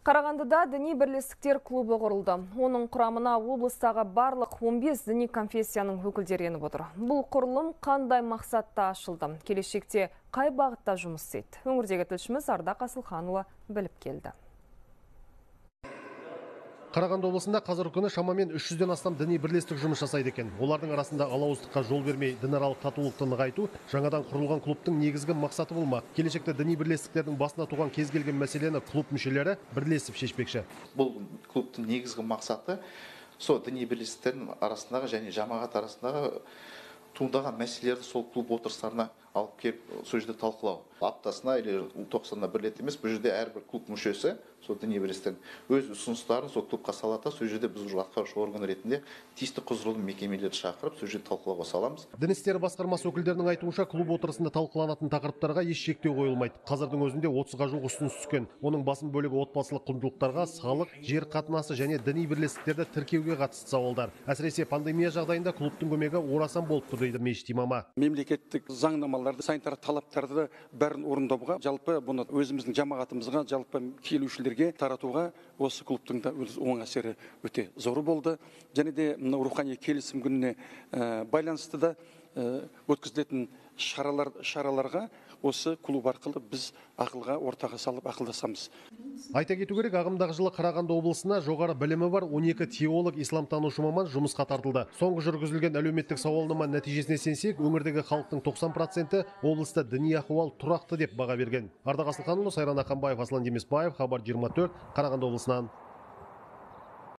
Қарағандыда діни бірлестіктер клубы құрылды. Оның құрамына облыстағы барлық 15 діни конфессияның өкілдері еніп отыр. Бұл құрылым қандай мақсатта ашылды? Келешекте қай бағытта жұмыс істейді? Өңірдегі тілшіміз Ардақ Асылханұлы біліп келді. Қарағанды облысында қазіргі күні шамамен 300-ден астам діни бірлестік жұмыс жасайды екен. Олардың арасында алауыздыққа жол бермей, дінаралық татулықты нығайту жаңадан құрылған клубтың негізгі мақсаты болмақ. Келешекте діни бірлестіктердің басына туған кез келген мәселені клуб мүшелері бірлесіп шешпекші. Бұл клубтың негізгі мақсаты сол діни бірлестіктердің арасындағы және жамағат арасындағы туындаған мәселелерді сол клуб отырыстарына алып келіп, сол жерде талқылау. Аптасына или 90-на бір рет емес, бұл жерде әрбір клуб мүшесі, сол діни бірлестіктің өз ұсыныстарын сол клубқа салады, сол жерде біз атқарушы орган ретінде тиісті құзырлы мекемелерді шақырып, сол жерде талқылауға саламыз. Дін істері басқармасы өкілдерінің айтуынша, клуб отырысында талқыланатын тақырыптарға еш шектеу қойылмайды. Қазірдің өзінде 30-ға жуық ұсыныс түскен. Оның басым бөлігі отбасылық құндылықтарға, салық, жер қатынасы және діни бірлестіктерді тіркеуге қатысты сауалдар. Әсіресе пандемия жағдайында клубтың көмегі орасан болып тұр дейді мешіт имамы. Мемлекеттік заңнамаларды, санитар талаптарды бәрін орындауға, жалпы бұны өзіміздің жамағатымызға, жалпы келушілерге таратуға осы клубтың да оң әсері өте зор болды. Және де рухани келісім күніне байланысты да өткізілетін шараларға осы клуб арқылы біз ақылға ортаға салып ақылдасамыз. Айта кету керек, ағымдағы жылы Қарағанды облысына жоғары білімі бар 12 теолог исламтанушы маман жұмысқа тартылды. Соңғы жүргізілген әлеуметтік сауалнама нәтижесіне сенсек, өңірдегі халықтың 90% облыста діни ахуал тұрақты деп баға берген. Ардақ Асылханұлы, Сайран Ақанбаев, Аслан Демесбаев, Хабар 24, Қарағанды облысынан.